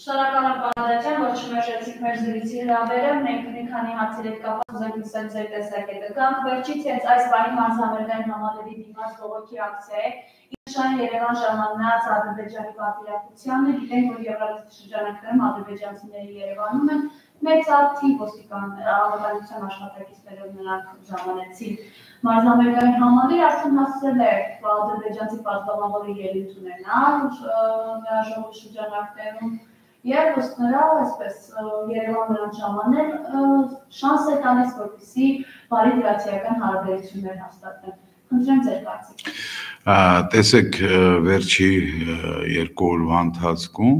Շնորհակալ եմ Պարադաչյան, որ չմերժեցիք մեր զրույցի հրավերը, մենք մի քանի հարցերի հետ կապված ուզենք լսել ձեր տեսակետը։ Գանք վերջից հենց այս պահի մարզամերգային համալիրի դիմաց բողոքի ակցիա է, Ինչն Երևան ժամանած Ադրբեջանի պատվիրակությանը, գիտենք, որ եվրոպական շրջանակներում ադրբեջանցիների Երևանում են մեծաթիվ անվտանգության աշխատակիցներով նրանք ժամանեցին մարզամերգային համալիր, արդեն հասցրել է ադրբեջանցի պատգամավորը ելույթ ունենալ նրա շրջանակներում Եվ ըստ նրա, այսպես Երևան նրանց ժամանել շանս է տալիս, որպեսզի բարի դրացիական հարաբերություններ հաստատեն։ Խնդրեմ ձեր կարծիքը։ Տեսեք, վերջի 2 օրվա ընթացքում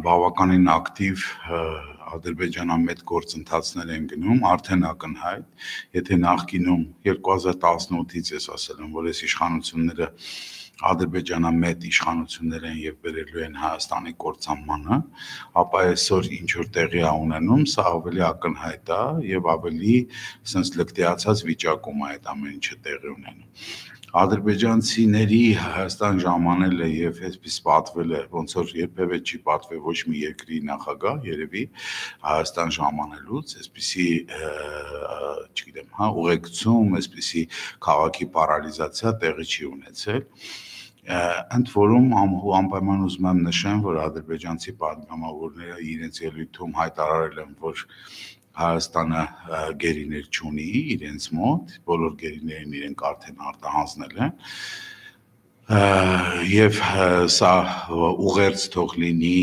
բավականին ակտիվ ադրբեջանամետ գործընթացներ են գնում, արդեն ակնհայտ, եթե նախկինում 2018-ից ես ասել եմ, որ այս իշխանությունները ադրբեջանամետ իշխանություններ են եւ բերելու են Հայաստանի կործանմանը, ապա այսօր ինչ որ տեղի է ունենում, սա ավելի ակնհայտ է եւ ավելի sense լկտիացած վիճակում է այդ ամեն ինչը տեղի ունենում։ Ադրբեջանցիների Հայաստան ժամանելը եւ այսպես պատվել է, ոնց որ երբևէ չի պատվել ոչ մի երկրի նախագահ, երևի Հայաստան ժամանելուց, այսպիսի, չգիտեմ, ուղեկցում, այսպիսի քաղաքի պարալիզացիա տեղի չի ունեցել։ Ընդ որում անպայման ուզում եմ նշեմ, որ ադրբեջանցի պատգամավորները իրենց ելույթում հայտարարել են, որ Հայաստանը գերիներ չունի իրենց մոտ, բոլոր գերիներին իրենք արդեն արտահանձնել են եւ սա ուղերձ թող լինի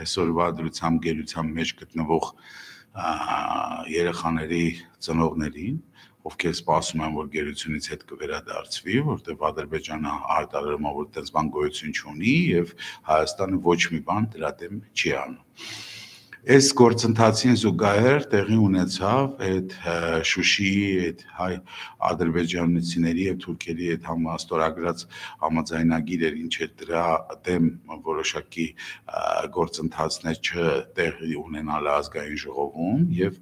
այսօրվա դրությամբ գերության մեջ գտնվող երեխաների ծնողներին, ովքեր սպասում են, որ գերությունից հետ կվերադարձվի, որտեղ Ադրբեջանը հայտարարում է, որ այդպես բան գոյություն չունի եւ Հայաստանը ոչ մի բան դրա դեմ չի անում։ Այս գործընթացին զուգահեռ տեղի ունեցավ այդ Շուշիի այդ հայ ադրբեջանցիների եւ թուրքերի այդ համաստորագրած համաձայնագիրը, ինչ է դրա դեմ որոշակի գործընթացներ չտեղի ունենալ ազգային ժողովում եւ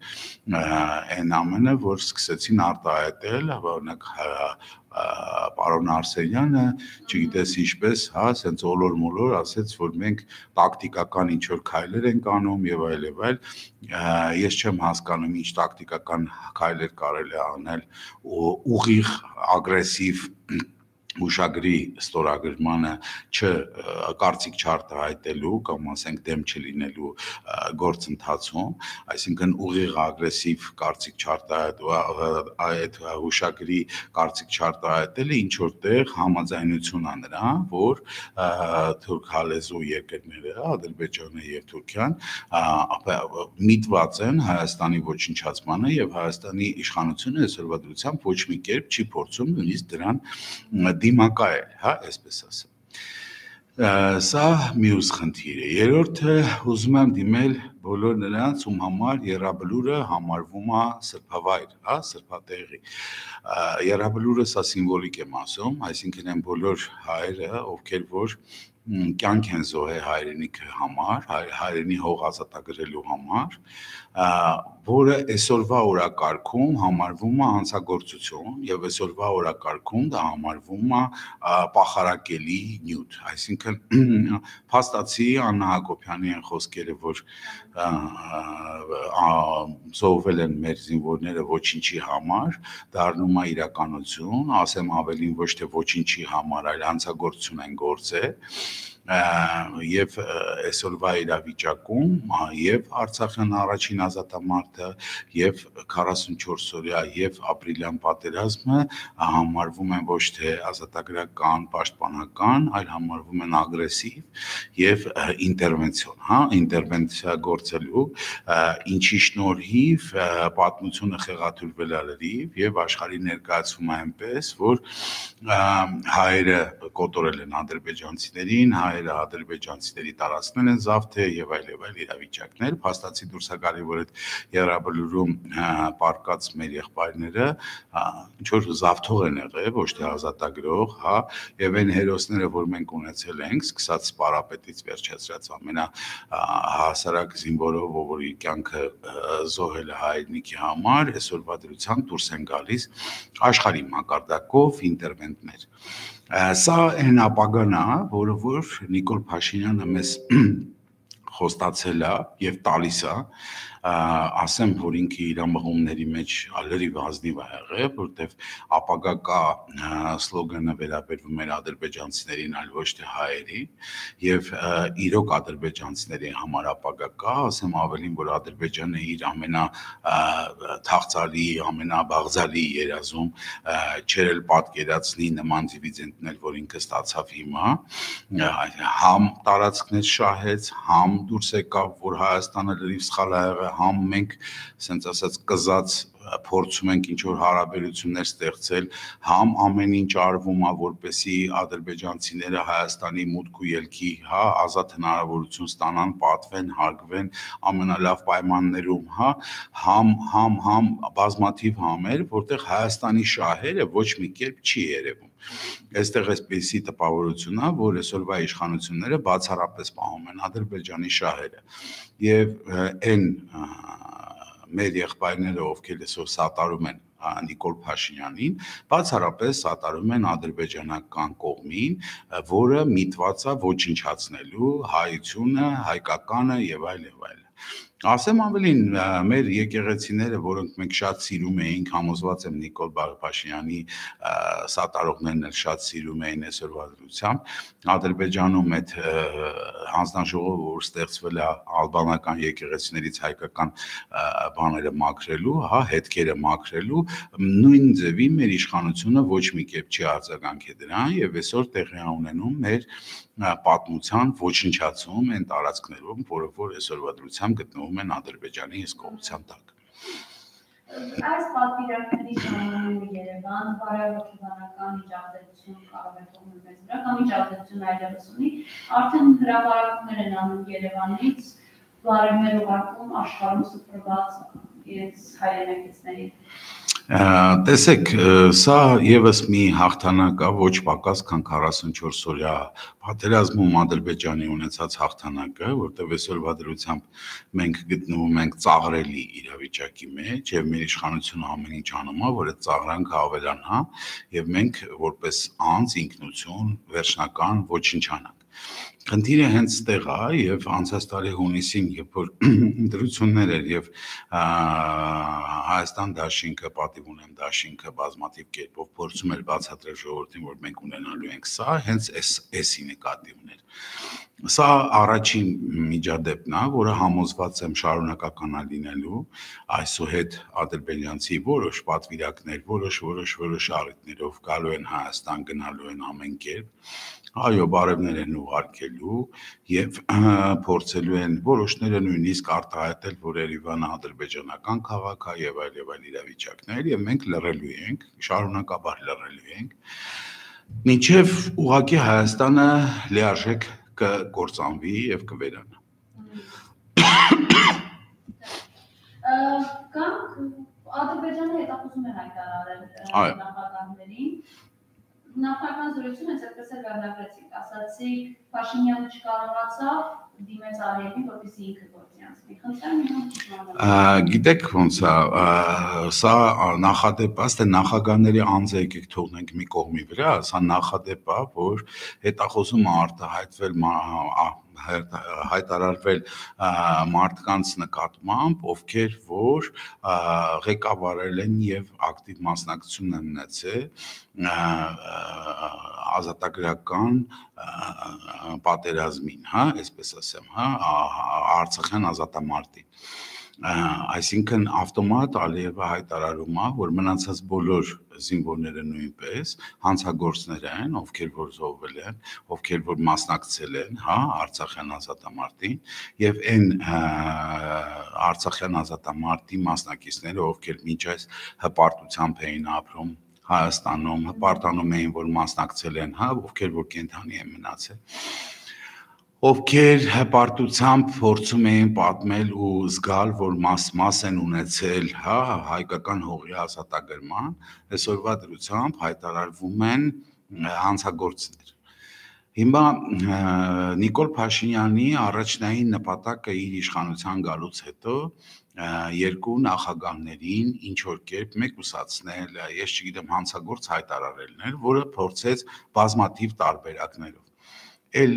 այն ամենը, որ սկսեցին արտահայտել, օրինակ պարոն Արսենյանը, չգիտես ինչպես, հա, ասենց ոլոր-մոլոր ասեց, որ մենք տակտիկական ինչ-որ քայլեր ենք անում եւ այլ, ես չեմ հասկանում ինչ տակտիկական քայլեր կարելի է անել ուղիղ ագրեսիվ հուշագրի ստորագրմանը կարծիք չարտահայտելու կամ ասենք դեմ չլինելու գործընթացում, այսինքն ուղիղ ագրեսիվ կարծիք չարտահայտելու այդ հուշագրի կարծիք չարտահայտելը ինչ որտեղ համաձայնություն է նրա, որ թուրքալեզու երկրները, Ադրբեջանը եւ Թուրքիան միտված են Հայաստանի ոչնչացմանը եւ Հայաստանի իշխանությունը այսօրվա դրությամբ ոչ մի կերպ չի փորձում նույնիսկ դրան դիմակայել, հա, այսպես ասեմ։ Սա մյուս խնդիր է։ Երրորդը ուզում եմ դիմել բոլոր նրանց, ում համար Եռաբլուրը համարվում է սրբավայր, հա, սրբատեղի։ Եռաբլուրը սա սիմվոլիկ եմ ասում, այսինքն են բոլոր հայերը, ովքեր որ կյանք են զոհել հայրենիքի համար, հայրենի հող ազատագրելու համար, որը այսօրվա օրակարգում համարվում է հանցագործություն եւ այսօրվա օրակարգում դա համարվում է պախարակելի նյութ, այսինքն փաստացի Աննա Հակոբյանի են խոսքերը, որ զոհվել են մեր զինվորները ոչինչի համար, դառնում է իրականություն, ասեմ ավելին ոչ թե ոչինչի համար, այլ հանցագործություն են գործել եւ այսօրվա իրավիճակում եւ Արցախյան առաջին ազատամարտը եւ 44-օրյա եւ ապրիլյան պատերազմը համարվում են ոչ թե ազատագրական, պաշտպանական, այլ համարվում են ագրեսիվ եւ ինտերվենցիոն, հա, ինտերվենցիա գործելու, ինչի շնորհիվ պատմությունը խեղաթյուրվել է լրիվ եւ աշխարհի ներկայացվում է այնպես, որ հայերը կոտորել են ադրբեջանցիներին, հայերը ադրբեջանցիների տարածքներ են զավթել եւ այլ իրավիճակներ, փաստացի դուրս է գալի, որ այդ Եռաբլուրում պարկած մեր եղբայրները ինչ որ զավթող են եղել, ոչ թե ազատագրող, հա, եւ այն հերոսները, որ մենք ունեցել ենք, սկսած Սպարապետից վերջացրած ամենահասարակ զինվորով, որի կյանքը զոհել է հայրենիքի համար, այսօրվա դրությամբ դուրս են գալիս աշխարհի մակարդակով ինտերվենտներ։ Սա այն ապագան է, որը որ Նիկոլ Փաշինյանը մեզ խոստացել է եւ տալիս է ասեմ որ ինքը իր մղումների մեջ ալերի ազնիվ է եղել որտեվ ապագա կա սլոգանը վերաբերվում էր ադրբեջանցիներին այլ ոչ թե հայերին եւ իրոք ադրբեջանցիների համար ապագա կա ասեմ ավելին որ Ադրբեջանը իր ամենա թաղծալի ամենաբաղձալի երազում չեր էլ պատկերացնի նման դիվիդենդներ որ ինքը ստացավ հիմա համ տարածքներ շահեց համ դուրս եկավ որ Հայաստանը լրիվ սխալ է եղել համ մենք ասենց ասած կզած փորձում ենք ինչ որ հարաբերություններ ստեղծել համ ամեն ինչ արվում է որպեսի ադրբեջանցիները Հայաստանի մուտք ու ելքի հա ազատ հնարավորություն ստանան պատվեն հարգվեն ամենալավ պայմաններում հա համ բազմաթիվ համեր որտեղ Հայաստանի շահերը ոչ մի կերպ չի երևում Այստեղ էսպիսի տպավորություն է որ այսօրվա իշխանությունները բացառապես պահում են Ադրբեջանի շահերը եւ այն մեր եղբայրները ովքեր այսօր սատարում են Նիկոլ Փաշինյանին բացառապես սատարում են ադրբեջանական կողմին, որը միտված է ոչնչացնելու հայությունը, հայկականը եւ այլ եւ այլ։ Ասեմ ավելին մեր եկեղեցիները, որոնք մենք շատ սիրում էինք, համոզված եմ Նիկոլ Փաշինյանի սատարողներն էլ շատ սիրում էին այսօրվա դրությամբ, Ադրբեջանում այդ հանձնաժողովը, որ ստեղծվել է ալբանական եկեղեցիներից հայկական բաները մաքրելու, հա, հետքերը մաքրելու, նույն ձևի մեր իշխանությունը ոչ մի կերպ չի արձագանքել դրան եւ այսօր տեղի ունենում մեր պատմության ոչնչացում են տարածքներում, որը որ այսօրվա դրությամբ գտնվում են Ադրբեջանի հսկողության տակ։ Այս պատվիրակների ժամանակ Երևան բարեհոգեբանական միջազգայություն կարող է թողնել մեզ վրա կամ միջազգայություն այլևս ունի, արդեն հրապարակումներ են անում Երևանից, բարևներ ուղարկում աշխարհում սփռված իրենց հայրենակիցներին։ Տեսեք, սա եւս մի հաղթանակ է ոչ պակաս քան 44 օրյա պատերազմում Ադրբեջանի ունեցած հաղթանակը, որտեղ այսօրվա դրությամբ մենք գտնվում ենք ծաղրելի իրավիճակի մեջ եւ մեր իշխանությունը ամեն ինչ անում է, որ այդ ծաղրանքը ավելանա եւ մենք որպես անձ ինքնություն վերջնական ոչնչանանք։ Խնդիրը հենց ստեղ է եւ անցած տարի հունիսին, երբ որ դրություններ էր եւ Հայաստան դաշինքը, պատիվ ունեմ դաշինքը բազմաթիվ կերպով փորձում էր բացատրել ժողովրդին, որ մենք ունենալու ենք սա, հենց էսի նկատի ուներ։ Սա առաջին միջադեպն է, որը համոզված եմ շարունակական է լինելու, այսուհետ ադրբեջանցի որոշ պատվիրակներ, որոշ առիթներով գալու են Հայաստան, գնալու են ամեն կերպ, այո, բարևներ են ուղարկելու եւ փորձելու են որոշները նույնիսկ արտահայտել, որ Երևանը ադրբեջանական քաղաք է եւ այլ իրավիճակներ եւ մենք լռելու ենք, շարունակաբար լռելու ենք, մինչեւ ուղղակի Հայաստանը լիարժեք կկործանվի եւ կվերանա։ Կամ Ադրբեջանը հետախուզում է հայտարարել նախագահներին Նախնական զրույցում հենց այդպես էլ վերնագրեցիք, ասացիք Փաշինյանը չկարողացավ դիմեց Ալիևին, որպեսզի ինքը գործի անցնի։ Խնդրեմ Գիտեք ոնց է, սա նախադեպ է, նախագահների անձը եկեք թողնենք մի կողմի վրա, սա նախադեպ է, որ հետախուզումը արտահայտվել հայտարարվել մարդկանց նկատմամբ, ովքեր որ ղեկավարել են եւ ակտիվ մասնակցություն են ունեցել ազատագրական պատերազմին, հա, այսպես ասեմ, հա, Արցախյան ազատամարտին։ Այսինքն ավտոմատ Ալիևը հայտարարում է, որ մնացած բոլոր զինվորները նույնպես հանցագործներ են, ովքեր որ զոհվել են, ովքեր որ մասնակցել են, հա, Արցախյան ազատամարտին, եւ այն Արցախյան ազատամարտի մասնակիցները, ովքեր մինչ այս հպարտությամբ էին ապրում Հայաստանում, հպարտանում էին, որ մասնակցել են, հա, ովքեր որ կենդանի են մնացել, ովքեր հպարտությամբ փորձում էին պատմել ու զգալ, որ մաս են ունեցել, հա, հայկական հողի ազատագրման, այսօրվա դրությամբ հայտարարվում են հանցագործներ։ Հիմա Նիկոլ Փաշինյանի առաջնային նպատակը իր իշխանության գալուց հետո երկու նախագահներին ինչ որ կերպ մեկուսացնել, ես չգիտեմ հանցագործ հայտարարելն էր, որը փորձեց բազմաթիվ տարբերակներով։ էլ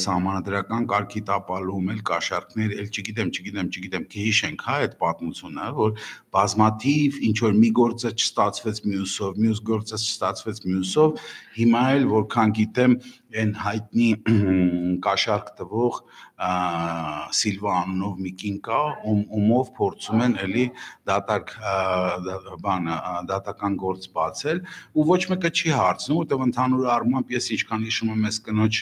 սահմանադրական կարգի տապալում, էլ կաշառքներ, էլ չգիտեմ, կհիշենք, հա, այդ պատմությունը, որ բազմաթիվ ինչ որ մի գործը չստացվեց մյուսով, մյուս գործը չստացվեց մյուսով, հիմա էլ որքան գիտեմ, այն հայտնի կաշառք տվող Սիլվա անունով մի կին կա, ումով փորձում են էլի դատական գործ բացել, ու ոչ մեկը չի հարցնում, որտեղ ընդհանուր առմամբ ես ինչքան հիշում եմ այս կնոջ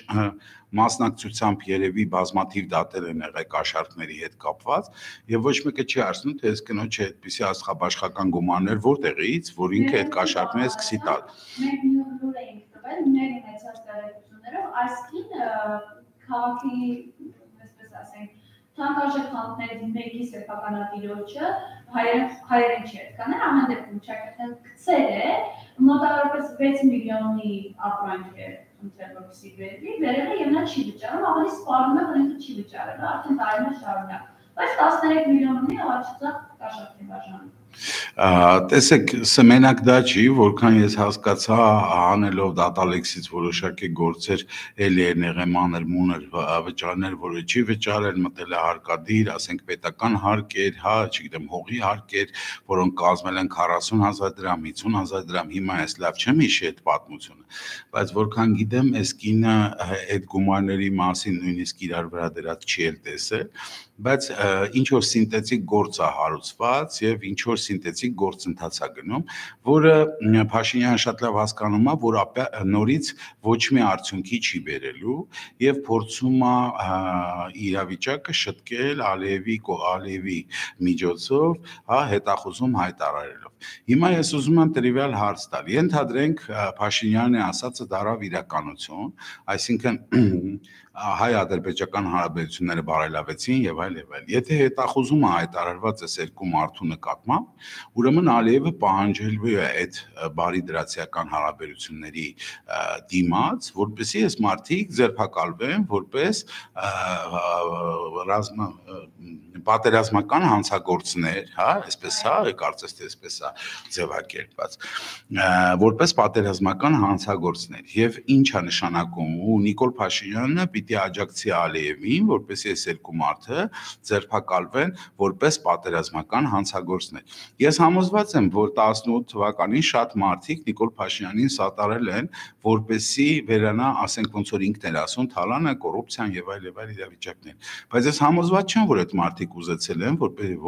մասնակցությամբ երևի բազմաթիվ դատեր են եղել կաշառքների հետ կապված, եւ ոչ մեկը չի հարցնում, թե այս կնոջը այդպիսի աստղաբաշխական գումարներ որտեղից, որ ինքը այդ կաշառքները սկսի տալ։ Մենք նույն էինք տվել, մեր ունեցած տեղեկություններով, այս կին քաղաքի, այսպես ասենք, թանկարժեք խանութներից մեկի սեփականատիրոջը հայերեն չի կանել, ամեն դեպքում ճակատեն գցել է, մոտավորապես 6 միլիոնի ապրանք է ընտրել որպեսզի վերել է եւ նա չի վճարում, ավելի սպառնում է, որ ինքը չի վճարել, արդեն տարիներ շարունակ, բայց 13 միլիոնի առաջացած կաշառք է բաժանում։ Տեսեք, մենակ դա չի, որքան ես հասկացա, անելով դատալեքսից որոշակի գործեր էլի են եղել մանր-մունր վճարներ, որը չի վճարել, մտել է հարկադիր, ասենք պետական հարկեր, հա, չգիտեմ, հողի հարկեր, որոնք կազմել են 40,000 դրամ, 50,000 դրամ, հիմա ես լավ չեմ հիշի այդ պատմությունը, բայց որքան գիտեմ, այս կինը այդ գումարների մասին նույնիսկ իրար վրա դրած չի էլ տեսել, բայց ինչ որ սինտետիկ գործ է հարուցված եւ ինչ որ սինտետիկ գործընթաց է գնում, որը Փաշինյանը շատ լավ հասկանում է, որ նորից ոչ մի արդյունքի չի բերելու եւ փորձում է իրավիճակը շտկել Ալիևի միջոցով, հա, հետախուզում հայտարարելով։ Հիմա ես ուզում եմ տրիվիալ հարց տալ։ Ենթադրենք Փաշինյանի ասածը դարավ իրականություն, այսինքն հայ-ադրբեջական հարաբերությունները բարելավեցին եւ այլ եւ այլ։ Եթե հետախուզումը հայտարարված է երկու մարդու նկատմամբ, ուրեմն Ալիևը պահանջելու է այդ բարի դրացիական հարաբերությունների դիմաց, որպեսզի այս մարդիկ ձերբակալվեն որպես պատերազմական հանցագործներ, հա, այսպես հա, կարծես թե այսպես է ձևակերպված, որպես պատերազմական հանցագործներ։ Եվ ինչ է նշանակում, ու Նիկոլ Փաշինյանը պիտի աջակցի Ալիևին, որպեսզի այս երկու մարդը ձերբակալվեն որպես պատերազմական հանցագործներ։ Ես համոզված եմ, որ 18 թվականին շատ մարդիկ Նիկոլ Փաշինյանին սատարել են, որպեսզի վերանա, ասենք ոնց որ ինքն էր ասում, թալանը, կոռուպցիան եւ այլ իրավիճակներ։ Բայց ես համոզված չեմ, որ այդ մարդիկ ուզեցել են,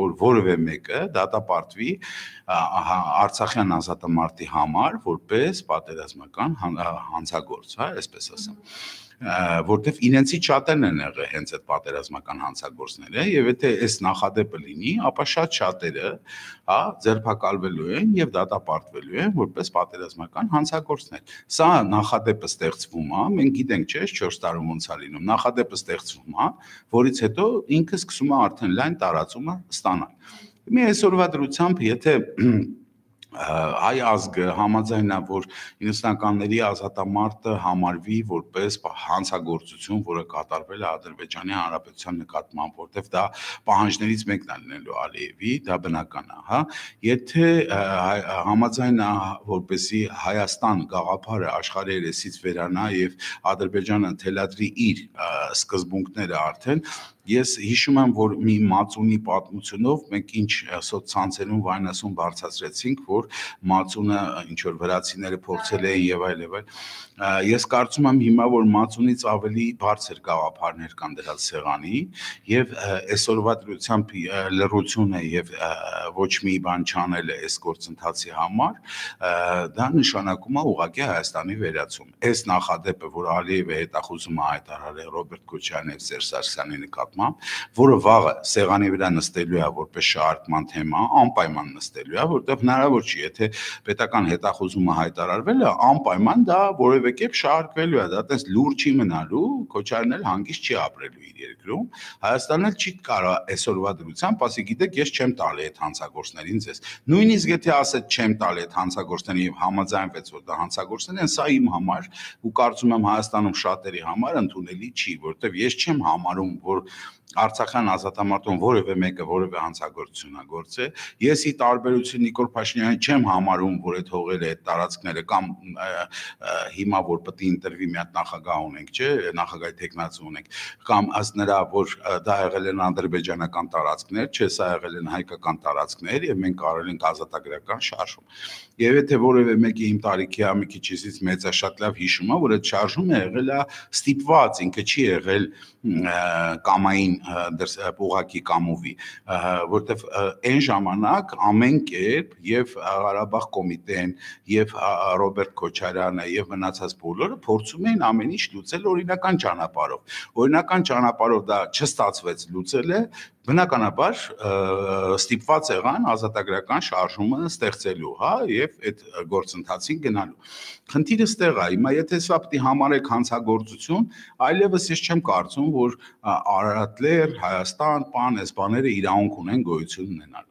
որ որևէ մեկը դատապարտվի Արցախյան ազատամարտի համար որպես պատերազմական հանցագործ, հա, այսպես ասեմ, որտեվ իրենցից շատերն են եղել հենց այդ պատերազմական հանցագործները, եւ եթե այս նախադեպը լինի, ապա շատ շատերը, հա, ձերբակալվելու են եւ դատապարտվելու են որպես պատերազմական հանցագործներ։ Սա նախադեպը ստեղծվում է, մենք գիտենք, չէ՞, 4 տարում ոնց է լինում, նախադեպը ստեղծվում է, որից հետո ինքը սկսում է արդեն լայն տարածումը ստանալ։ Մի այսօրվա դրությամբ, եթե հայ ազգը համաձայնա, որ 90-ականների ազատամարտը համարվի որպես հանցագործություն, որը կատարվել է Ադրբեջանի Հանրապետության նկատմամբ, որտեղ դա պահանջներից մեկն է լինելու Ալիևի, դա բնական է, հա, եթե համաձայնա, որպեսզի Հայաստան գաղափարը աշխարհի երեսից վերանա եւ Ադրբեջանը թելադրի իր սկզբունքները արդեն, ես հիշում եմ, որ մի Մածունի պատմությունով մենք ինչ սոցցանցերում վայնասուն բարձրացրեցինք, որ Մածունը ինչ որ վրացիները փորձել էին եւ այլ եւ այլ։ Ես կարծում եմ հիմա, որ Մածունից ավելի բարձր գաղափարներ կան դրած սեղանի եւ այսօրվա դրությամբ լռություն է եւ ոչ մի բան չանել է այս գործընթացի համար, դա նշանակում է ուղղակի Հայաստանի վերացում։ Այս նախադեպը, որ Ալիևը հետախուզում է հայտարարել Ռոբերտ Քոչարյանի եւ Սերժ Սարգսյանի նկատմամբ, որը վաղը սեղանի վրա նստելու է որպես շարժման թեմա, անպայման նստելու է, որտեղ հնարավոր չի, եթե պետական հետախուզումը հայտարարվել է, անպայման դա որևէ կերպ շարժվելու է, դա տես լուր չի մնալու, Քոչարյանն էլ հանգիստ չի ապրելու իր երկրում, Հայաստանն էլ չի կարող այսօրվա դրությամբ, ասի գիտեք, ես չեմ տալի այդ հանցագործներին ձեզ։ Նույնիսկ եթե ասեց չեմ տալի այդ հանցագործներին եւ համաձայնվեց, որ դա հանցագործներ են, սա իմ համար ու կարծում եմ Հայաստանում շատերի համար ընդունելի չի, որովհետեւ ես չեմ համարում, որ Արցախյան ազատամարտում որևէ մեկը որևէ հանցագործություն է գործել, ես ի տարբերություն Նիկոլ Փաշինյանի չեմ համարում, որ այդ հողերը, այդ տարածքները կամ հիմա որ պետք է ընտրվի մի հատ նախագահ ունենք, չէ, նախագահի տեխնացու ունենք, կամ ըստ նրա, որ դա եղել են ադրբեջանական տարածքներ, չէ, սա եղել են հայկական տարածքներ եւ մենք կարել ենք ազատագրական շարժում։ Եվ եթե որևէ մեկի իմ տարիքի մի քիչից մեծա շատ լավ հիշում է, որ այդ շարժումը եղել է ստիպված, ինքը չի եղել կամային ուղակի կամովի, որտեվ այն ժամանակ ամեն կերպ եւ Ղարաբաղ կոմիտեն եւ Ռոբերտ Քոչարյանը եւ մնացած բոլորը փորձում էին ամեն ինչ լուծել օրինական ճանապարհով։ Օրինական ճանապարհով դա չստացվեց լուծելը, բնականաբար ստիպված եղան ազատագրական շարժումը ստեղծելու, հա, եւ այդ գործընթացին գնալու։ Խնդիրը ստեղ է, հիմա եթե սա պետք է համարեք հանցագործություն, այլևս ես չեմ կարծում, որ Արարատներ, Հայաստան, պան, այս բաները իրավունք ունեն գոյություն ունենալու։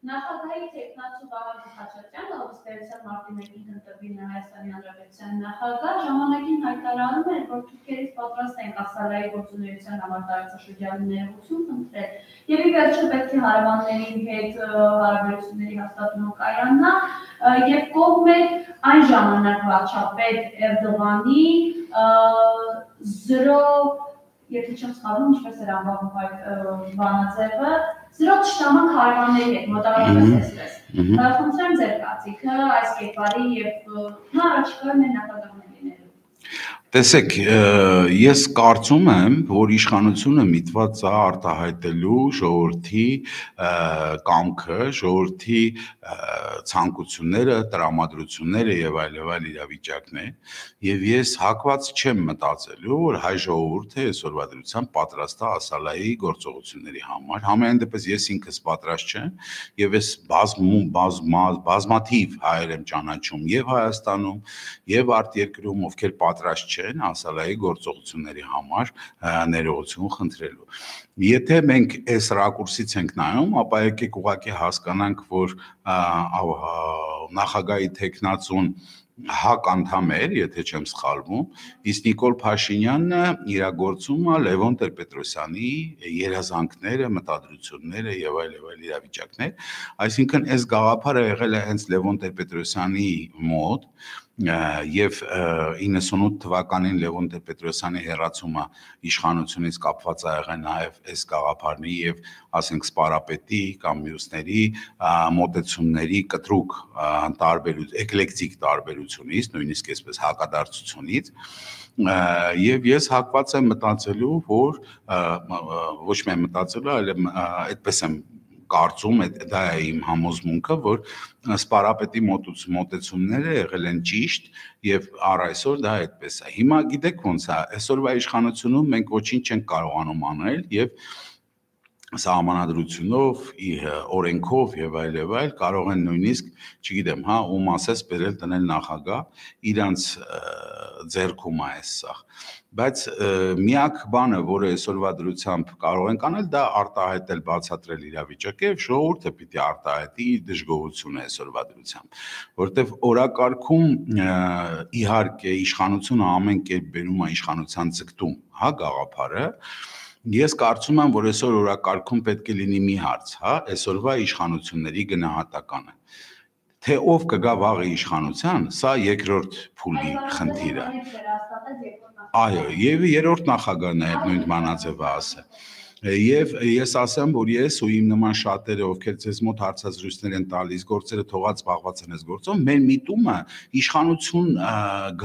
Նախագահի տեխնացու Վահագն Խաչատրյանը, ըստ էության մարտի 1-ին ընտրվի Հայաստանի Հանրապետության նախագահ, ժամանակին հայտարարում էր, որ թուրքերից պատրաստ են Ասալայի գործունեության համար տարածաշրջանի ներողություն խնդրել, եւ ի վերջո պետք է հարևանների հետ հարաբերությունների հաստատումը կայանա, եւ կողմ է այն ժամանակ վարչապետ Էրդողանի 0, եթե չեմ սխալվում, ինչպես էր անվանում այդ բանաձևը, 0 թշնամանք հարևանների հետ, մոտավորապես այսպես։ Խնդրեմ ձեր կարծիքը այս կերպարի եւ առաջիկայում են նախագահներ լինելու։ Տեսեք, ես կարծում եմ, որ իշխանությունը միտված է արտահայտելու ժողովրդի կամքը, ժողովրդի ցանկությունները, տրամադրությունները եւ այլ իրավիճակներ, եւ ես հակված չեմ մտածելու, որ հայ ժողովուրդը այսօրվա դրությամբ պատրաստ է Ասալայի գործողությունների համար։ Համենայն դեպս ես ինքս պատրաստ չեմ եւ ես բազմաթիվ հայեր եմ ճանաչում եւ Հայաստանում եւ արտերկրում, ովքեր պատրաստ չեն Ասալայի գործողությունների համար ներողություն խնդրելու։ Եթե մենք այս ռակուրսից ենք նայում, ապա եկեք ուղղակի հասկանանք, որ նախագահի տեխնացուն ՀԱԿ անդամ էր, եթե չեմ սխալվում, իսկ Նիկոլ Փաշինյանը իրագործում է Լևոն Տեր-Պետրոսյանի երազանքները, մտադրությունները եւ այլ իրավիճակներ, այսինքն այս գաղափարը եղել է հենց Լևոն Տեր-Պետրոսյանի մոտ եւ 98 թվականին Լևոն Տեր-Պետրոսյանի հեռացումը իշխանությունից կապված է եղել նաեւ այս գաղափարի եւ ասենք սպարապետի կամ մյուսների մոտեցումների կտրուկ էկլեկտիկ տարբերությունից, նույնիսկ այսպես հակադարձությունից եւ ես հակված եմ մտածելու, որ ոչ միայն մտածելու, այլ այդպես եմ կարծում, դա է իմ համոզմունքը, որ սպարապետի մոտեցումները եղել են ճիշտ եւ առ այսօր դա այդպես է։ Հիմա գիտեք ոնց է, այսօրվա իշխանությունում մենք ոչինչ չենք կարողանում անել եւ սահմանադրությունով, օրենքով եւ այլ կարող են նույնիսկ, չգիտեմ, հա, ում ասես բերել տնել նախագահ, իրանց ձեռքում է այս սա։ Բայց միակ բանը, որը այսօրվա դրությամբ կարող ենք անել, դա արտահայտել, բացատրել իրավիճակը եւ ժողովուրդը պիտի արտահայտի դժգոհությունը այսօրվա դրությամբ, որտեվ օրակարգում իհարկե իշխանությունը ամեն կերպ բերում է իշխանության ձգտում, հա, գաղափարը։ Ես կարծում եմ, որ այսօր օրակարգում պետք է լինի մի հարց, հա, այսօրվա իշխանությունների գնահատականը։ Թե ով կգա վաղը իշխանության, սա երկրորդ փուլի խնդիր է։ Այո, եւ երրորդ նախագահն է նույն բանաձևը ասել։ Եվ ես ասեմ, որ ես ու իմ նման շատերը, ովքեր ձեզ մոտ հարցազրույցներ են տալիս, գործերը թողած զբաղված են այս գործով, մեր միտումը իշխանություն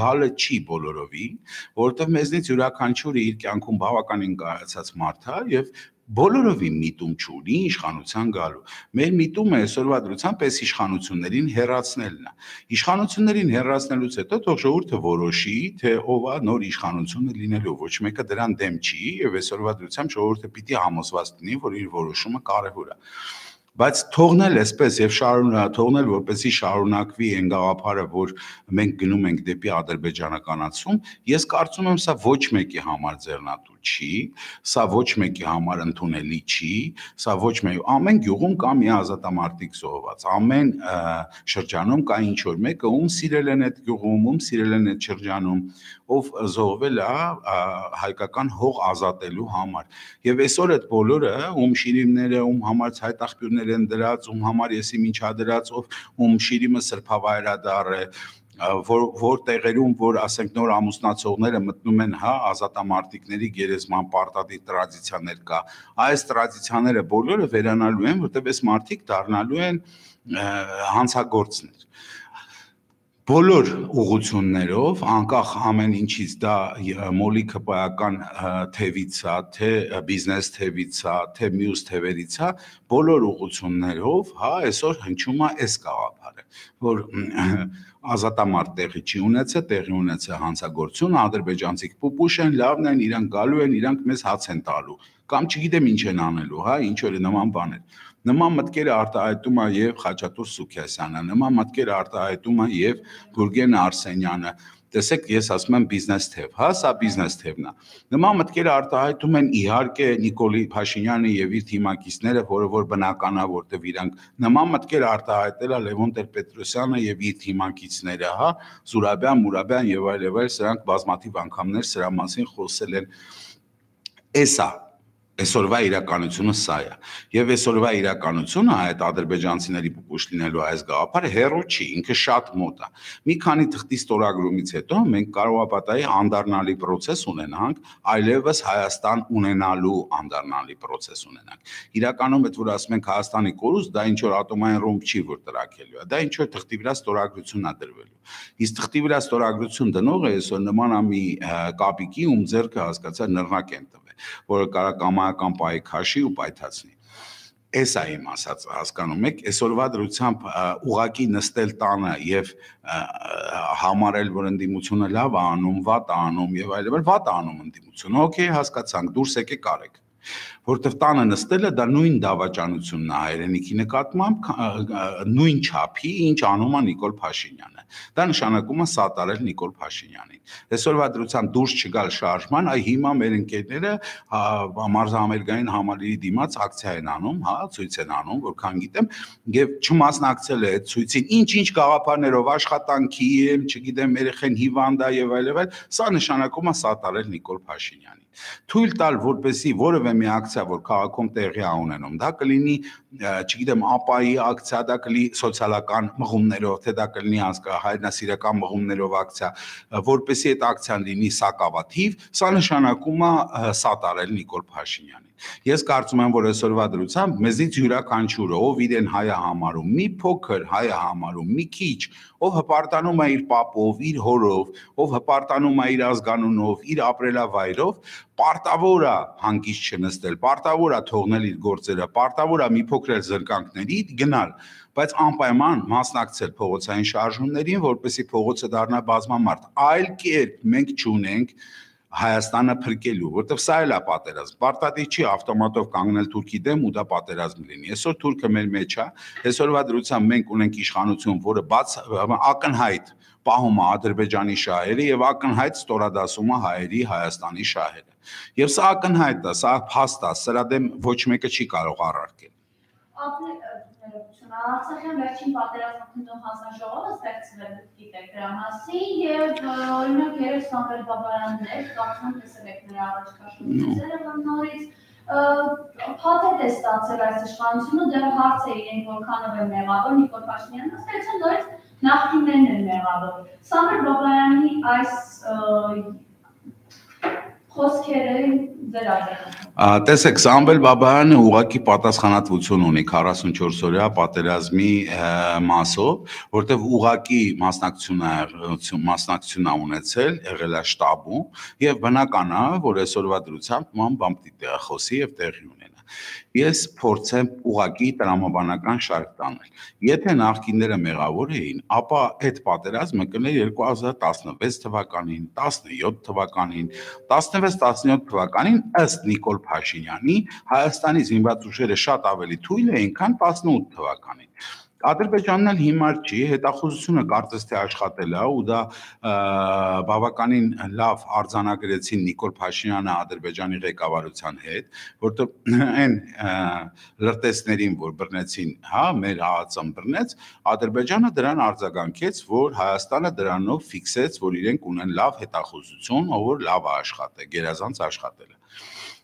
գալը չի բոլորովին, որովհետև մեզնից յուրաքանչյուրը իր կյանքում բավականին կայացած մարդ է եւ բոլորովին միտում չունի իշխանության գալու։ Մեր միտումը այսօրվա դրությամբ այս իշխանություններին հեռացնելն է։ Իշխանություններին հեռացնելուց հետո թող ժողովուրդը որոշի, թե ով է նոր իշխանությունը լինելու, ոչ մեկը դրան դեմ չի եւ այսօրվա դրությամբ ժողովուրդը պիտի համոզված լինի, որ իր որոշումը կարեւոր է։ Բայց թողնել այսպես եւ թողնել որպեսզի շարունակվի այն գաղափարը, որ մենք գնում ենք դեպի ադրբեջանականացում, ես կարծում եմ սա ոչ մեկի համար ձեռնատու չի, սա ոչ մեկի համար ընդունելի չի, սա ոչ մեկ ամեն գյուղում կա մի ազատամարտիկ զոհված, ամեն շրջանում կա ինչ որ մեկը, ում սիրել են այդ գյուղում, ում սիրել են այդ շրջանում, ով զոհվել է հայկական հող ազատելու համար։ Եվ այսօր այդ բոլորը, ում շիրիմները, ում համար ցայտաղբյուրներ են դրած, ում համար եսի միջադրած, ում շիրիմը սրբավայրադառ է, որ տեղերում, որ ասենք նոր ամուսնացողները մտնում են, ազատամարտիկների գերեզման պարտադիր տրադիցիաներ կա, այս տրադիցիաները բոլորը վերանալու են, որտեղ այս մարդիկ դառնալու են հանցագործներ։ Բոլոր ուղղություններով, անկախ ամեն ինչից դա մոլիքը պայական թևից է, թե բիզնես թևից է, թե մյուս թևերից է, բոլոր ուղղություններով, այսօր հնչում է այս գաղափարը, որ ազատամարտ տեղի չի ունեցել, տեղի ունեցել հանցագործություն, ադրբեջանցիք պուպուշ են, լավն են, իրանք գալու են, իրանք մեզ հաց են տալու, կամ չգիտեմ ինչ են անելու, ինչ որ նման բաներ։ Նման մտքերը արտահայտում է եւ Խաչատուր Սուքիասյանը, նման մտքերը արտահայտում է եւ Գուրգեն Արսենյանը։ Տեսեք, ես ասում եմ բիզնես թև, սա բիզնես թևն է։ Նման մտքերը արտահայտում են իհարկե Նիկոլի Փաշինյանը եւ իր թիմակիցները, որ բնական է, որտեւ իրանք նման մտքեր արտահայտել է Լևոն Տեր-Պետրոսյանը եւ իր թիմակիցները, Զուրաբյան, Մուրաբյան եւ այլ, սրանք բազմաթիվ անգամներ սրա մասին խոսել են։ Էսա Այսօրվա իրականությունը սա է։ Եվ այսօրվա իրականությունը այդ ադրբեջանցիների պուպուշ լինելու այս գաղափարը հեռու չի, ինքը շատ մոտ է։ Մի քանի թղթի ստորագրումից հետո մենք կարող է պատահի անդառնալի process ունենանք, այլևս Հայաստան ունենալու անդառնալի process ունենանք։ Իրականում այդ որ ասում ենք Հայաստանի կորուստ, դա ինչ որ ատոմային ռումբ չի, որ տրաքելու է, դա ինչ որ թղթի վրա ստորագրություն է դրվելու։ Իսկ թղթի վրա ստորագրություն դնողը այսօր նման է մի կապիկի, ում ձեռքը հասկացա նռնակ են տվել, որը կարող կամայական պայի քաշի ու պայթացնի։ Էս է իմ ասած, հասկանում եք, այսօրվա դրությամբ ուղակի նստել տանը եւ համարել, որ ընդդիմությունը լավ է անում, վատ է անում եւ այլն, վատ է անում ընդդիմությունը։ Okay, հասկացանք, դուրս եկեք արեք։ Որտեվ տանը նստելը դա նույն դավաճանությունն է հայրենիքի նկատմամբ, նույն չափի, ինչ անում է Նիկոլ Փաշինյանը։ Դա նշանակում է սատարել Նիկոլ Փաշինյանին։ Այսօրվա դրությամբ դուրս չգալ շարժման, այ հիմա մեր ընկերները մարզահամերգային համալիրի դիմաց ակցիա են անում, ցույց են անում, որքան գիտեմ, եւ չմասնակցել է այդ ցույցին, ինչ գաղափարներով աշխատանքի, չգիտեմ, երեխեն հիվանդ է եւ այլն, սա նշանակում է սատարել Նիկոլ Փաշինյանին։ Թույլ տալ, որպեսզի որևէ մի ակցիա, որ քաղաքում տեղի է ունենում, դա կլինի, չգիտեմ, ԱՊԱ-ի ակցիա, դա կլինի սոցիալական մղումներով, թե դա կլինի հայրենասիրական մղումներով ակցիա, որպեսզի այդ ակցիան լինի սակավաթիվ, սա նշանակում է սատարել Նիկոլ Փաշինյանին։ Ես կարծում եմ, որ այսօրվա դրությամբ մեզից յուրաքանչյուրը, ով իրեն հայ է համարում, մի փոքր հայ է համարում, մի քիչ, ով հպարտանում է իր պապով, իր հորով, ով հպարտանում է իր ազգանունով, իր ապրելավայրով, պարտավոր է հանգիստ չնստել, պարտավոր է թողնել իր գործերը, պարտավոր է մի փոքր զրկանքների գնալ, բայց անպայման մասնակցել փողոցային շարժումներին, որպեսզի փողոցը դառնա բազմամարդ։ Այլ կերպ մենք չունենք Հայաստանը փրկելու, որտեվ սա էլ է պատերազմ։ Պարտադիր չի ավտոմատով կանգնել Թուրքի դեմ ու դա պատերազմ լինի։ Այսօր Թուրքը մեր մեջ է, այսօրվա դրությամբ մենք ունենք իշխանություն, որը ակնհայտ պահում է Ադրբեջանի շահերը եւ ակնհայտ ստորադասում է հայերի Հայաստանի շահերը։ Եվ սա ակնհայտ է, սա փաստ է, սրա դեմ ոչ մեկը չի կարող առարկել։ Արցախյան վերջին պատերազմը քննող հանձնաժողովը ստեղծվել գիտեք դրա մասին եւ օրինակ երեք Սամվել Բաբայաններ, կարծում եմ տեսել եք նրա առաջ քաշումները, որ նորից փաթեթ է ստացել այս իշխանությունը, դեռ հարց է իրենք որքանով է մեղավոր, Նիկոլ Փաշինյանը ասել նորից նախկիններն են մեղավոր։ Սամվել Բաբայանի այս խոսքերը ձեր այդտեղ։ Տեսեք, Սամվել Բաբայանը ուղղակի պատասխանատվություն ունի 44-օրյա պատերազմի մասով, որտեղ ուղղակի մասնակցություն է ունեցել, եղել է շտաբում եւ բնական է, որ այսօրվա դրությամբ ման բան պիտի տեղախոսի եւ տեղի ունենա։ Ես փորձեմ ուղղակի տրամաբանական շարք տանել։ Եթե նախկինները մեղավոր էին, ապա այդ պատերազմը կներ 2016 թվականին, 17 թվականին, 16-17 թվականին ըստ Նիկոլ Փաշինյանի Հայաստանի զինված ուժերը շատ ավելի թույլ էին, քան 18 թվականին։ Ադրբեջանն էլ հիմար չի, հետախուզությունը կարծես թե աշխատել է ու դա բավականին լավ արձանագրեցին Նիկոլ Փաշինյանը Ադրբեջանի ղեկավարության հետ, որտեղ այն լրտեսներին, որ բռնեցին, հա, մեր ՀԱԾ-ն բռնեց, Ադրբեջանը դրան արձագանքեց, որ Հայաստանը դրանով ֆիքսեց, որ իրենք ունեն լավ հետախուզություն, ով որ լավ է աշխատել, գերազանց աշխատել է։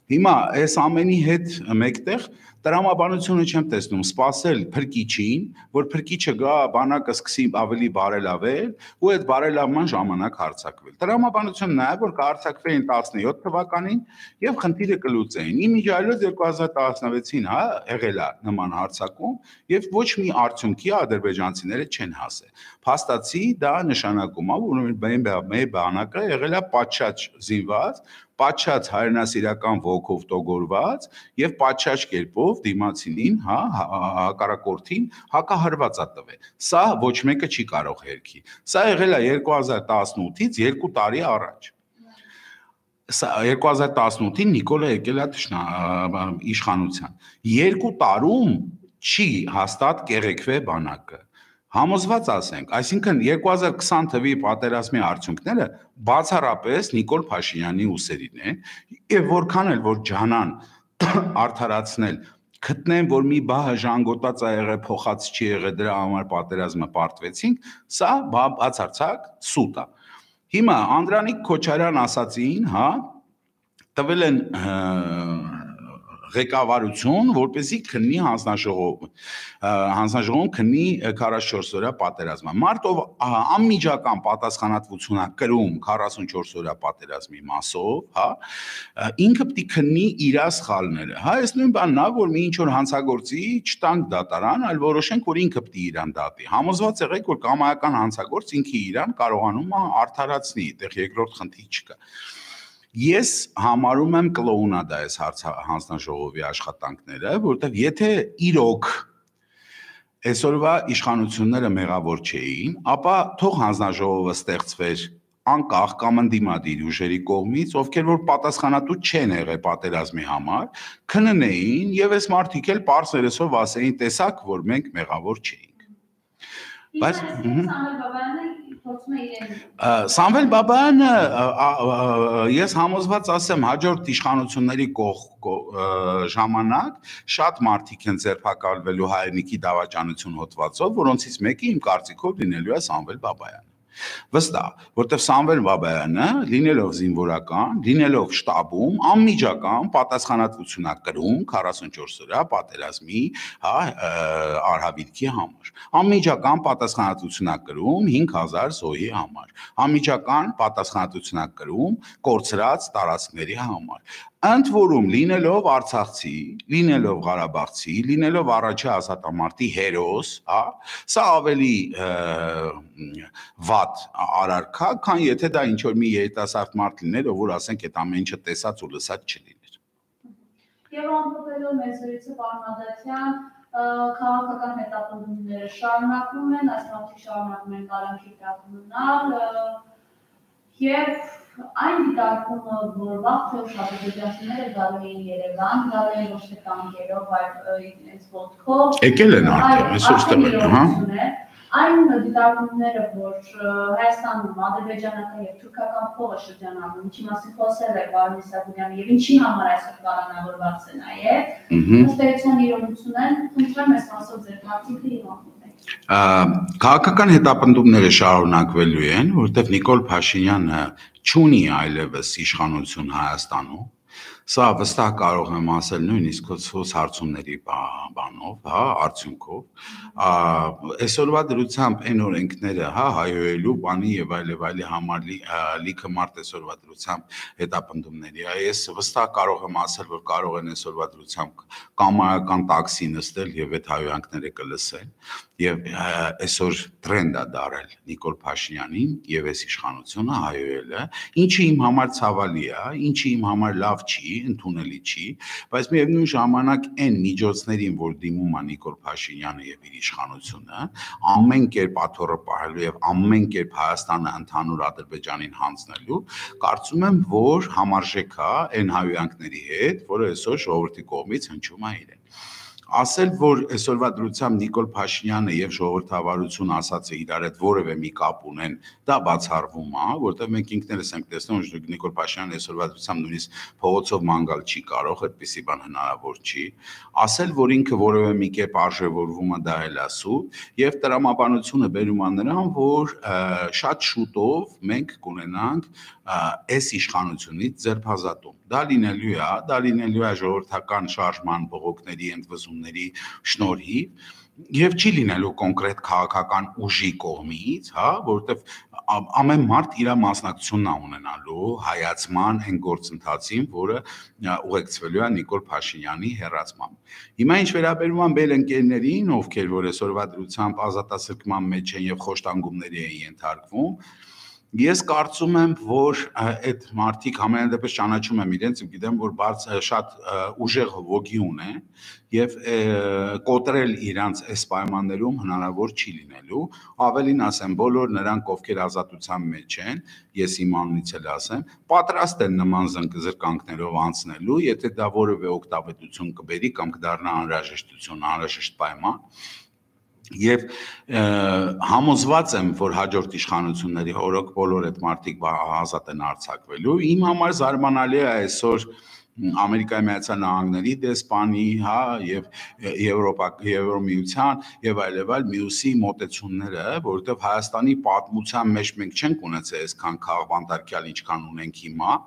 Հիմա այս ամենի հետ մեկտեղ տրամաբանությունը չեմ տեսնում, սпасել փրկիչին, որ փրկիչը գա, բանակը սկսի ավելի բարելավել ու այդ բարելավման ժամանակ հարձակվել։ Տրամաբանությունը նաև որ կհարձակվեին 17 թվականին եւ խնդիրը կլուծեին։ Իմիջիայլոց 2016-ին, հա, եղել է նման հարձակում եւ ոչ մի արդյունքի ադրբեջանցիները չեն հասել։ Փաստացի դա նշանակում է, որ մեր բանակը եղել է պատշաճ զինված, պատշաճ հայրենասիրական ոգով տոգորված եւ պատշաճ կերպով դիմացինին, հա, հակառակորդին հակահարված է տվել։ Սա ոչ մեկը չի կարող հերքի։ Սա եղել է 2018-ից 2 տարի առաջ։ Սա 2018-ին Նիկոլը եկել է իշխանության։ 2 տարում չի հաստատ կեղեքվե բանակը։ Համոզված ասենք, այսինքն 2020 թվականի պատերազմի արդյունքները բացառապես Նիկոլ Փաշինյանի ուսերին են, եւ որքան էլ որ ջանան արդարացնել, գտնեն, որ մի բահը ժանգոտած է եղել, փոխած չի եղել, դրա համար պատերազմը պարտվեցինք, սա բացարձակ սուտ է։ Հիմա Անդրանիկ Քոչարյան ասացին, հա, տվել են ղեկավարություն, որպեսզի քննի հանձնաժողովում քննի 44 օրյա պատերազմը։ Մարդ ով անմիջական պատասխանատվություն է կրում 44 օրյա պատերազմի մասով, հա, ինքը պետք է քննի իր սխալները։ Հա, այս նույն բանն է, որ մի ինչ որ հանցագործի չտանք դատարան, այլ որոշենք, որ ինքը պետք է իրան դատի։ Համոզված եղեք, որ կամայական հանցագործ ինքը իրան կարողանում է արդարացնի, այդտեղ երկրորդ խնդիր չկա։ Ես համարում եմ կլոունադա այս հանձնաժողովի աշխատանքները, որտեղ եթե իրոք այսօրվա իշխանությունները մեղավոր չէին, ապա թող հանձնաժողովը ստեղծվեր անկախ կամ ընդդիմադիր ուժերի կողմից, ովքեր որ պատասխանատու չեն եղել պատերազմի համար, քննեին եւ այս մարդիկ էլ պարզերեսով ասեին, տեսակ, որ մենք մեղավոր չէինք։ Բայց Սամվել Բաբայանը ես համոզված ասեմ հաջորդ իշխանությունների ժամանակ շատ մարդիկ են ձերբակալվելու հայրենիքի դավաճանություն հոտվածով, որոնցից մեկը իմ կարծիքով լինելու է Սամվել Բաբայանը։ Վստահ, որտեղ Սամվել Բաբայանը, լինելով զինվորական, լինելով շտաբում, անմիջական պատասխանատվություն է կրում 44 օրյա պատերազմի, հա, արհավիրքի համար։ Անմիջական պատասխանատվություն է կրում 5000 զոհի համար։ Անմիջական պատասխանատվություն է կրում կորցրած տարածքների համար։ Ընդ որում լինելով արցախցի, լինելով ղարաբաղցի, լինելով առաջի ազատամարտի հերոս, հա, սա ավելի վատ արարքա, քան եթե դա ինչ որ մի երիտասարդ մարդ լիներ, ով որ ասենք այդ ամեն ինչը տեսած ու լսած չլիներ։ Եվ ամփոփելով մեր զրույցը պարոն քաղաքական հետապնդումները շարունակվում են, այս մարդիկ շարունակում են կարանքի տակ մնալ եւ այն դիտարկումը, որ վաղ թե ուշ ադրբեջանցիները գալու էին Երևան, գալու են ոչ թե տանկերով, այլ այս ոտքով, եկել են արդեն, այսօր ստվել, հա։ Այն դիտարկումները, որ Հայաստանում ադրբեջանական եւ թուրքական փողը շրջանառվում, ինչի մասին խոսել է պարոն Իսագունյանը եւ ինչի համար այսօր կառավարված է նաեւ, ըստ էության իրողություն են, խնդրեմ այս մասով ձեր կարծիքը իմացեք։ Քաղաքական հետապնդումները շարունակվելու են, որովհետեւ Նիկոլ Փաշինյանը չունի այլևս իշխանություն Հայաստանում։ Սա վստահ կարող եմ ասել նույնիսկ քոս հարցումների բանով, հա, արդյունքով։ Այսօրվա դրությամբ այն օրենքները, հա, հայոյելու բանի եւ այլի համար լիքը մարդ այսօրվա դրությամբ հետապնդումների։ Ես վստահ կարող եմ ասել, որ կարող են այսօրվա դրությամբ կամայական տաքսի նստել եւ այդ հայոյանքները կլսեն եւ այսօր տրենդ է դարել Նիկոլ Փաշինյանին եւ այս իշխանությունը հայոյելը, ինչը իմ համար ցավալի է, ինչը իմ համար լավ չի, ընդունելի չի, բայց միևնույն ժամանակ այն միջոցներին, որ դիմում է Նիկոլ Փաշինյանը եւ իր իշխանությունը, ամեն կերպ աթոռը պահելու եւ ամեն կերպ Հայաստանը ընդհանուր Ադրբեջանին հանձնելու, կարծում եմ, որ համարժեք է այն հայոյանքների հետ, որը այսօր ժողովրդի կողմից հնչում է իրեն։ Ասել, որ այսօրվա դրությամբ Նիկոլ Փաշինյանը եւ ժողովրդավարություն ասած է իրար հետ որևէ մի կապ ունեն, դա բացառվում է, որտեղ մենք ինքներս ենք տեսնում, որ Նիկոլ Փաշինյանը այսօրվա դրությամբ նույնիսկ փողոցով ման գալ չի կարող, այդպիսի բան հնարավոր չի։ Ասել, որ ինքը որևէ մի կերպ արժևորվում է, դա էլ ասու, եւ տրամաբանությունը բերում է նրան, որ շատ շուտով մենք կունենանք այս իշխանությունից ձերբազատում։ Դա լինելու է ժողովրդական շարժման բողոքների ընդվզումների շնորհիվ եւ չի լինելու կոնկրետ քաղաքական ուժի կողմից, հա, որովհետեւ ամեն մարդ իր մասնակցությունն է ունենալու հայացման այն գործընթացին, որը ուղեկցվելու է Նիկոլ Փաշինյանի հեռացմամբ։ Հիմա ինչ վերաբերում է մեր ընկերներին, ովքեր որ այսօրվա դրությամբ ազատասրկման մեջ են եւ խոշտանգումների են ենթարկվում, ես կարծում եմ, որ այդ մարդիկ համենայնդեպս ճանաչում եմ իրենց, գիտեմ, որ շատ ուժեղ ոգի ունեն եւ կոտրել իրանց այս պայմաններում հնարավոր չի լինելու, ավելին ասեմ, բոլոր նրանք, ովքեր ազատության մեջ են, ես իմ անունից էլ ասեմ, պատրաստ են նման զրկանքներով անցնելու, եթե դա որևէ օգտավետություն կբերի կամ կդառնա անհրաժեշտություն, անհրաժեշտ պայման։ Եվ համոզված եմ, որ հաջորդ իշխանությունների օրոք բոլոր այդ մարդիկ ազատ են արձակվելու։ Իմ համար զարմանալի է այսօր Ամերիկայի Միացյալ Նահանգների դեսպանի, հա, եւ Եվրոմիության եւ այլ մյուսի մոտեցումները, որովհետեւ Հայաստանի պատմության մեջ մենք չենք ունեցել այսքան քաղբանտարկյալ, ինչքան ունենք հիմա,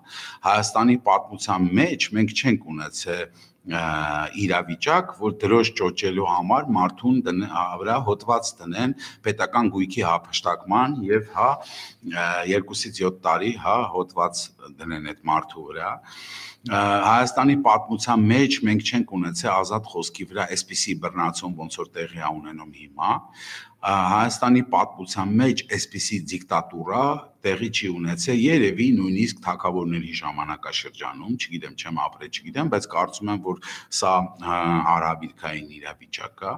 Հայաստանի պատմության մեջ մենք չենք ունեցել իրավիճակ, որ դրոշ ճոճելու համար մարդուն վրա հոդված դնեն պետական գույքի հափշտակման եւ 2-ից 7 տարի հոդված դնեն այդ մարդու վրա։ Հայաստանի պատմության մեջ մենք չենք ունեցել ազատ խոսքի վրա այսպիսի բռնացում, ոնց որ տեղի է ունենում հիմա։ Հայաստանի պատմության մեջ այսպիսի դիկտատուրա տեղի չի ունեցել երևի նույնիսկ թագավորների ժամանակաշրջանում, չգիտեմ, չեմ ապրել, չգիտեմ, բայց կարծում եմ, որ սա արհավիրքային իրավիճակ է,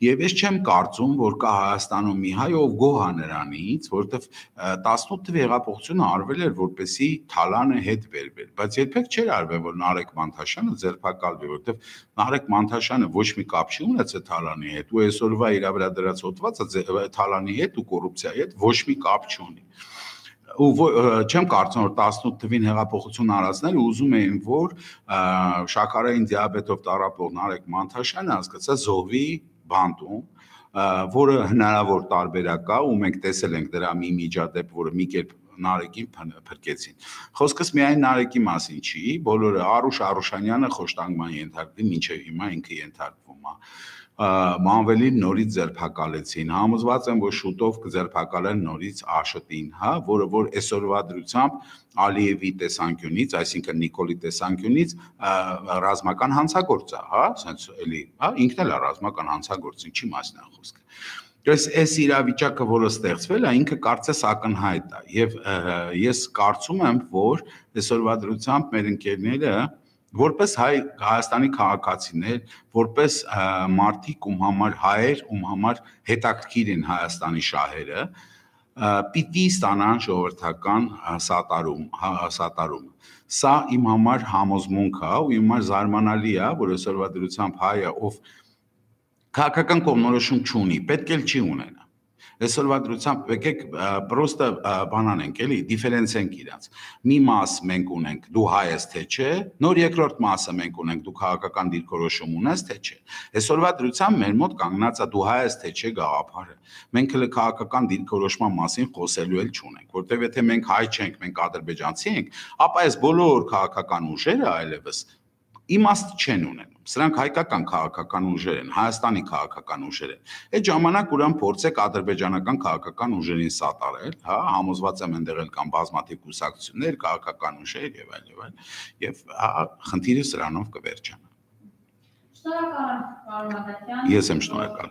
եւ ես չեմ կարծում, որ կա Հայաստանում մի հայ, ով գոհ է նրանից, որովհետեւ 18 թվականի հեղափոխությունը արվել էր, որպեսզի Թալանը հետ բերվեր, բայց երբեք չէր արվել, որ Նարեկ Մանթաշյանը ձերբակալվի, որովհետեւ Նարեկ Մանթաշյանը ոչ մի կապ չի ունեցել Թալանի հետ, ու այսօրվա իր վրա դրած հոդվածը Թալանի հետ ու կոռուպցիայի հետ ոչ մի կապ չունի։ Ու չեմ կարծում, որ 18 թվին հեղափոխություն արածները ուզում էին, որ շաքարային դիաբետով տառապող Նարեկ Մանթաշյանը հասկացա զոհվի բանտում, որը հնարավոր տարբերակ է, ու մենք տեսել ենք դրա մի միջադեպ, որը մի կերպ Նարեկին փրկեցին։ Խոսքս միայն Նարեկի մասին չի, բոլորը Արուշ Արուշանյանը խոշտանգման ենթարկվի, մինչև հիմա ինքը ենթարկվում է։ Մանվելին նորից ձերբակալեցին, համոզված եմ, որ շուտով կձերբակալեն նորից Աշոտին, հա, որը որ այսօրվա դրությամբ Ալիևի տեսանկյունից, այսինքն Նիկոլի տեսանկյունից ռազմական հանցագործ է, հա, ասենց էլի, հա, ինքն էլ է ռազմական հանցագործ, ինչի մասին է խոսքը։ Այս իրավիճակը, որը ստեղծվել է, ինքը կարծես ակնհայտ է, եւ ես կարծում եմ, որ այսօրվա դրությամբ մեր ընկերները որպես Հայաստանի քաղաքացիներ, որպես մարդիկ, ում համար հայեր, ում համար հետաքրքիր են Հայաստանի շահերը, պիտի ստանան ժողովրդական սատարում։ Սա իմ համար համոզմունք է, ու իմ համար զարմանալի է, որ այսօրվա դրությամբ հայը, ով քաղաքական կողմնորոշում չունի, պետք էլ չի ունենա։ Այսօրվա դրությամբ եկեք պրոստը բանանենք, էլի, դիֆերենցենք իրանց։ Մի մաս մենք ունենք, դու հայ ես, թե չէ, նոր երկրորդ մասը մենք ունենք, դու քաղաքական դիրքորոշում ունես, թե չէ։ Այսօրվա դրությամբ մեր մոտ կանգնած է դու հայ ես, թե չէ գաղափարը։ Մենք հենց քաղաքական դիրքորոշման մասին խոսելու էլ չունենք, որտեղ եթե մենք հայ չենք, մենք ադրբեջանցի ենք, ապա այս բոլոր քաղաքական ուժերը այլևս իմաստ չեն ունենում։ Սրանք հայկական քաղաքական ուժեր են, Հայաստանի քաղաքական ուժեր են։ Այդ ժամանակ ուրան փորձեք ադրբեջանական քաղաքական ուժերին սատարել, հա, համոզված եմ այնտեղ էլ կան բազմաթիվ կուսակցություններ, քաղաքական ուժեր եւ այլ, եւ խնդիրը սրանով կվերջանա։ Շնորհակալ եմ, պարոն Ադամյան։ Ես եմ շնորհակալ։